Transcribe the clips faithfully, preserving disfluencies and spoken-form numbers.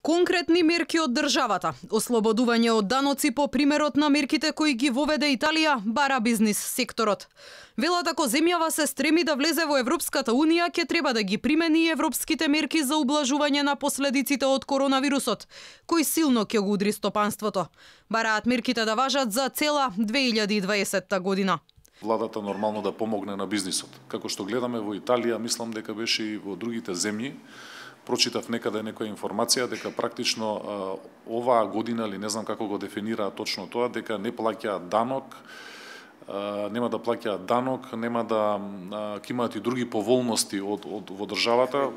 Конкретни мерки од државата, ослободување од даноци по примерот на мерките кои ги воведе Италија, бара бизнис секторот. Велат ако земјава се стреми да влезе во Европската унија, ќе треба да ги примени и европските мерки за ублажување на последиците од коронавирусот, кој силно ќе го удри стопанството. Бараат мерките да важат за цела две илјади и дваесетта година. Владата нормално да помогне на бизнисот. Како што гледаме во Италија, мислам дека беше и во другите земји. Прочитав некаде некоја информација дека практично оваа година, или не знам како го дефинираат точно тоа, дека не плаќаат данок, нема да плаќаат данок, нема да ќе имаат и други поволности од, од во државата,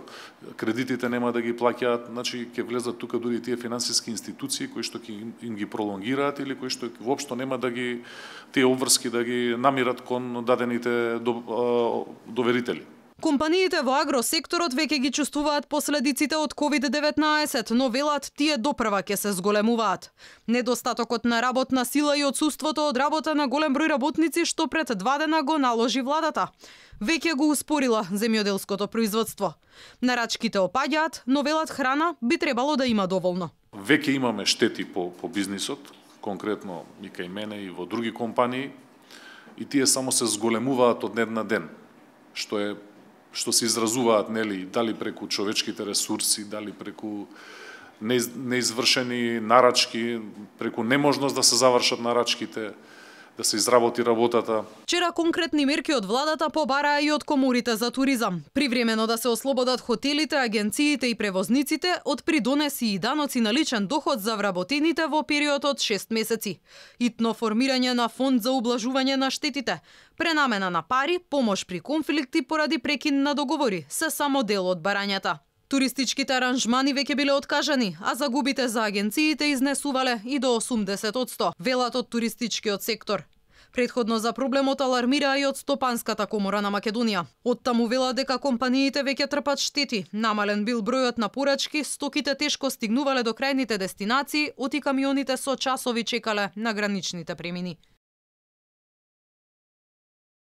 кредитите нема да ги плаќаат, значи ќе влезат тука дури тие финансиски институции кои што ќе им ги пролонгираат или кои што воопшто нема да ги тие обврски да ги намират кон дадените доверители. Компаниите во агросекторот веќе ги чувствуваат последиците од ковид деветнаесет, но велат тие допрва ќе се зголемуваат. Недостатокот на работна сила и отсуството од работа на голем број работници што пред два дена го наложи владата, веќе го успорила земјоделското производство. Нарачките опаѓаат, но велат храна би требало да има доволно. Веќе имаме штети по, по бизнисот, конкретно и кај мене и во други компании, и тие само се зголемуваат од ден на ден, што е што се изразуваат, нели, дали преку човечките ресурси, дали преку неизвршени нарачки, преку неможност да се завршат нарачките, да се изработи работата. Вчера конкретни мерки од владата побараа и од коморите за туризам. Привремено да се ослободат хотелите, агенциите и превозниците од придонеси и даноци на личен доход за вработените во период од шест месеци. Итно формирање на фонд за ублажување на штетите, пренамена на пари, помош при конфликти поради прекин на договори, се само дел од барањата. Туристичките аранжмани веќе биле откажани, а загубите за агенциите изнесувале и до осумдесет одсто, велат од туристичкиот сектор. Предходно за проблемот алармира и од Стопанската комора на Македонија. Оттаму велат дека компаниите веќе трпат штети, намален бил бројот на порачки, стоките тешко стигнувале до крајните дестинации, оти камионите со часови чекале на граничните премини.